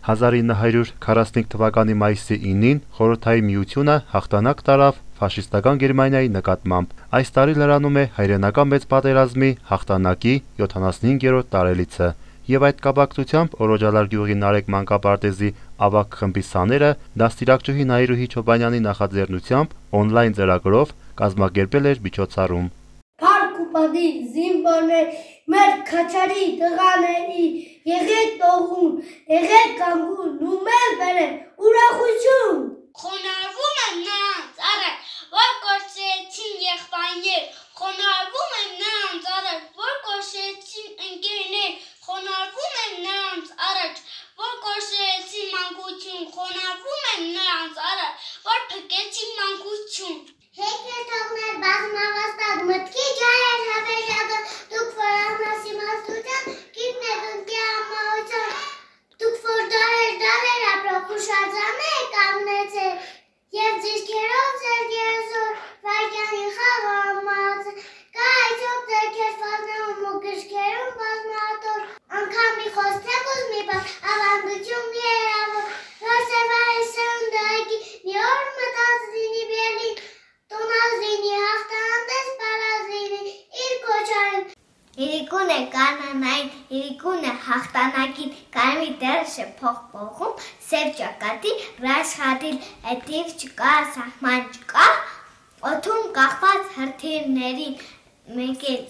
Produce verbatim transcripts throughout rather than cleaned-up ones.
հազար ինը հարյուր քառասունհինգ թվականի մայիսի ինին Խորհրդային Միությունը հաղթանակ տարավ ֆաշիստական Գերմանիայի նկատմամբ։ Այս տարի լրանում է հայրենական մեծ պատերազմի հաղթանակի յոթանասունհինգերորդ տարելիցը։ Եվ այդ կապակցությամբ Օրոջալար գյուղի Նարեկ մանկապարտեզի ավագ խմբի սաները դաստիարակչուհի Նայիրուհի Չոբանյանի նախաձեռնությամբ օնլայն ծրագրով կազմակերպել էր միջոցառում։ Փառք ու պատիվ զինվորներ, մեր քաչարի տղաների, եղեք տողուն, եղեք կանգուն, ու մեր բերեք ուրախություն։ Խոնարհվում եմ նրանց առաջ, որ կորցրեցին եղբայրներ, խոնարհվում եմ նրանց առաջ, որ կորցրեցին ընկերներ, խոնարհվում եմ նրանց առաջ, որ կորցրեցին մանկություն, խոնարհվում եմ նրանց առաջ, որ փկեցին մանկություն։ Հեքեր թողներ բազմավաստակ մտքի ջահեր հավերյակը, դուք որ անհասիմաստության, գիտնեք ընկի ամահության, դուք որ դարեր դարեր ապրող ուշարձան եք կանգնեցել, և ձիրքերով ձեր գերզոր վարկյանի խաղը ամացել, կա այցոք ձեր քերվազներում ու գրքերում բազմատոր, անգամ մի խոսքեք ուզ մի բան, ավանդություն մի երավոր, որ սևարի սրունդը այգի մի օր մտած լինի բերլին, տոնազինի հաղթանատես պարազինի իր կոչարին։ Իրիկուն է կանանային, իրիկուն է հաղթանակին, կարմի դերը շփող պողում, սև ճակատի, ռաշխատիլ, էտիվ չկա, սահման չկա, օթում կախված հրթիրներին, մեկ էլ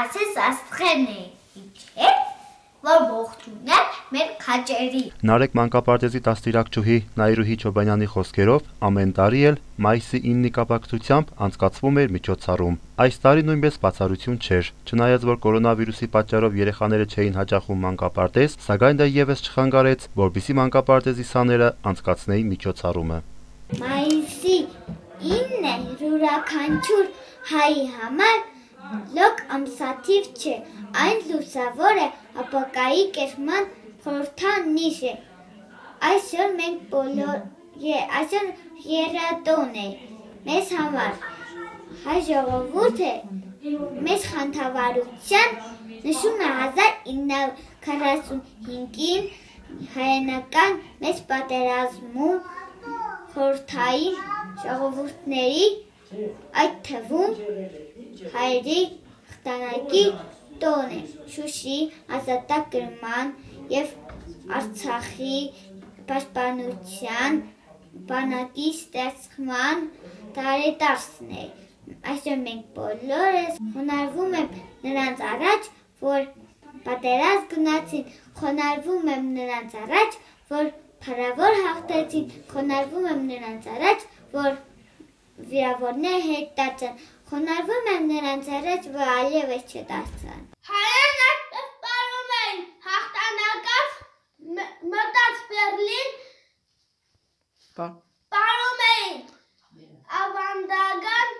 ասես աստղեն է իջել, որ ողջուն է մեր քաչերի։ Նարեկ մանկապարտեզի դաստիարակչուհի Նայիրուհի Չոբանյանի խոսքերով ամեն տարի էլ մայիսի իննի կապակցությամբ անցկացվում էր միջոցառում։ Այս տարի նույնպես բացառություն չէր, չնայած որ կորոնավիրուսի պատճառով երեխաները չէին հաճախում մանկապարտեզ, սակայն դա ևս չխանգարեց, որպեսզի մանկապարտեզի սաները անցկացնեին միջոցառումը։ Մայիսի ինը յուրաքանչյուր հայի համար լոկ ամսաթիվ չէ, այն լուսավոր է ապակայի կերման խորհրդանիշ է։ Այսօր մենք բոլոր, այսօր երատոն է մեզ համար, հայ ժողովուրդը մեզ խանդավառության նշում է հազար ինը հարյուր քառասունհինգին հայրենական մեծ պատերազմում խորհրդային ժողովուրդների, այդ թվում հայերի հաղթանակի տոն է, Շուշի ազատագրման և Արցախի պաշտպանության բանակի ստեղծման տարեդարձն է։ Այսօր մենք բոլորս խոնարհվում եմ նրանց առաջ, որ պատերազմ գնացին, խոնարհվում եմ նրանց առաջ, որ փառավոր հաղթեցին, խոնարհվում եմ նրանց առաջ, որ վիրավորները հետ դարձան, խոնարհվում եմ նրանց առաջ, որ այլևս չդարձան։ Հայերն այդպես պարում էին, հաղթանակով մտած Բերլին, պարում էին ավանդական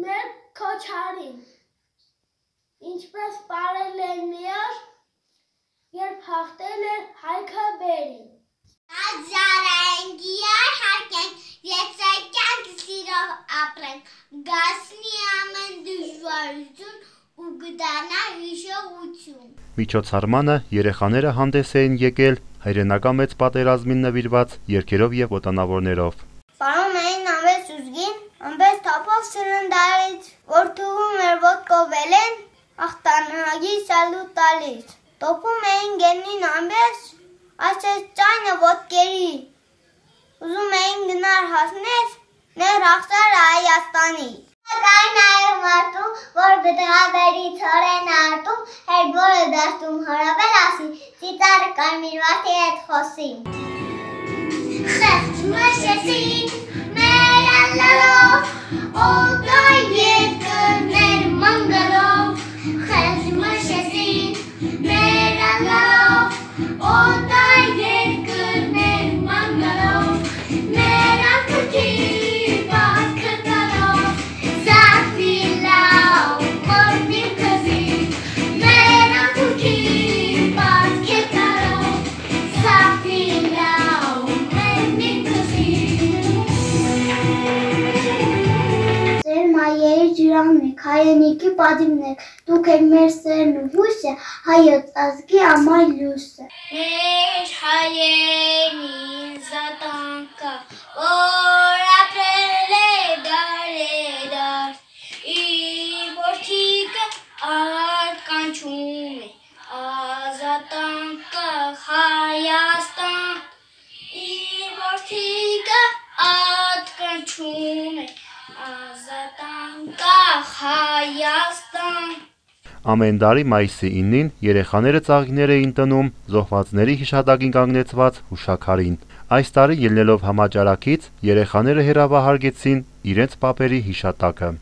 մեր քոչարին, ինչպես պարել են մի օր, երբ հաղթել է Հայքը Բերին։ Հազարային գիար հարկենք, եծակյանք սիրով ապրենք, գասնի ամեն դժվարություն ու գտանա հիշողություն։ Միջոցառմանը երեխաները հանդես էին եկել հայրենական մեծ պատերազմին նվիրված երգերով և ոտանավորներով։ Պարում էին ամես ուզգին, ամես թափով սրնդարից, որ թվում էր ոտքով են, աղթանակի սալուտ տալիս։ Տոպում էին գենին ամես, այսպես ճայնը ոտքերի, ուզում էին գնար հասներ, ներ հաղթար Հայաստանի։ Կային նաև մարդու, որ գտղաբերի ցորեն արտում, հերբորը դաշտում հորավել ասի, ծիծարը կարմիրվարդի հետ խոսի։ Խեղճ մշեցին, մեր ալլալով, օտայ երկրներ մանգալով, խեղճ մշեցին, մեր ալլալով, օտայ երկրներ մանգալով, մեր ակրկի պատքը տալով, զավի լավ, մորդիվ կզի, մեր ակրկի պատքը տալով, զավի լավ, մորդիվ կզի։ Ձեր մայերի ջրանն եք, հայրենիքի պատիվն եք, դուք եք մեր սերն ու հույսը, հայոց ազգի ամայ լույսը։ Մեր հայեր ականչում է ազատանկը Հայաստան իր որդիքը ականչում է ազատանկը Հայաստան Ամեն տարի մայիսի իննին երեխաները ծաղիկներ էին տնում զոհվածների հիշատակին կանգնեցված հուշաքարին։ Այս տարի ելնելով համաճարակից երեխաները հեռավահարգեցին իրենց պապերի հիշատակը։